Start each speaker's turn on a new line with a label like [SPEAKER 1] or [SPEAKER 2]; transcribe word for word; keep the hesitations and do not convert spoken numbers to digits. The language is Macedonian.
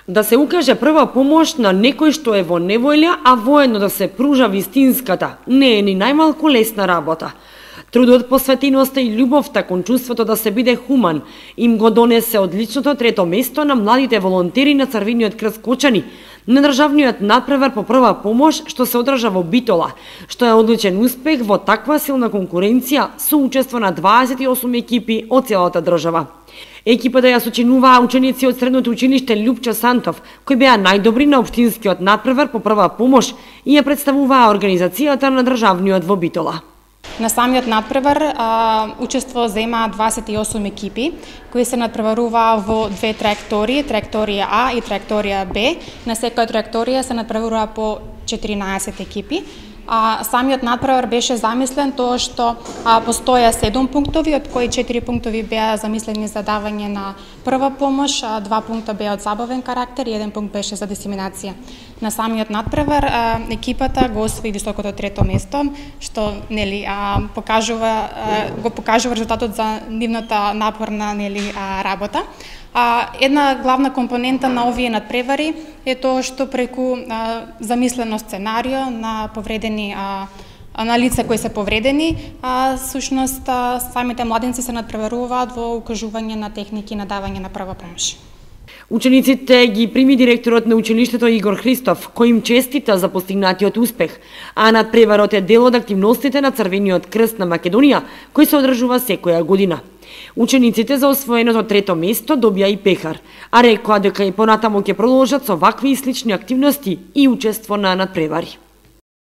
[SPEAKER 1] Да се укаже прва помош на некој што е во неволја, а воедно да се пружа вистинската, не е ни најмалку лесна работа. Трудот, посветеноста и љубовта кон чувството да се биде хуман им го донесе одличното трето место на младите волонтери на Црвениот крст Кочани, на државниот надпревар по прва помош што се одржа во Битола, што е одличен успех во таква силна конкуренција со учество на дваесет и осум екипи од целата држава. Екипата ја сочинуваа ученици од средното училиште Љупчо Сантов, кои беа најдобри на општинскиот надпревар по прва помош и ја представуваа организацијата на државниот во Битола.
[SPEAKER 2] На самиот надпревар а, учество зема дваесет и осум екипи, кои се надпреваруваа во две траектории, траекторија А и траекторија Б. На секоја траекторија се надпреваруваа по четиринаесет екипи. А, самиот надпревар беше замислен тоа што а, постоја седум пунктови, од кои четири пунктови беа замислени за давање на прва помош, а два пункта беа од забавен карактер и еден пункт беше за дисеминација. На самиот надпревар а, екипата го освои високото трето место, што нели а, покажува а, го покажува резултатот за нивната напорна нели а, работа. А, една главна компонента на овие надпревари е тоа што преку а, замислено сценарио на повредени а, на лица кои се повредени, а сушност а, самите младенци се надпреваруваат во укажување на техники на давање на прва помош.
[SPEAKER 1] Учениците ги прими директорот на училиштето Игор Христов, кој им честита за постигнатиот успех, а надпреварот е дел од активностите на Црвениот крст на Македонија, кој се одржува секоја година. Учениците за освоеното трето место добија и пехар, а рекоа дека и понатаму ќе продолжат со вакви и слични активности и учество на надпревари.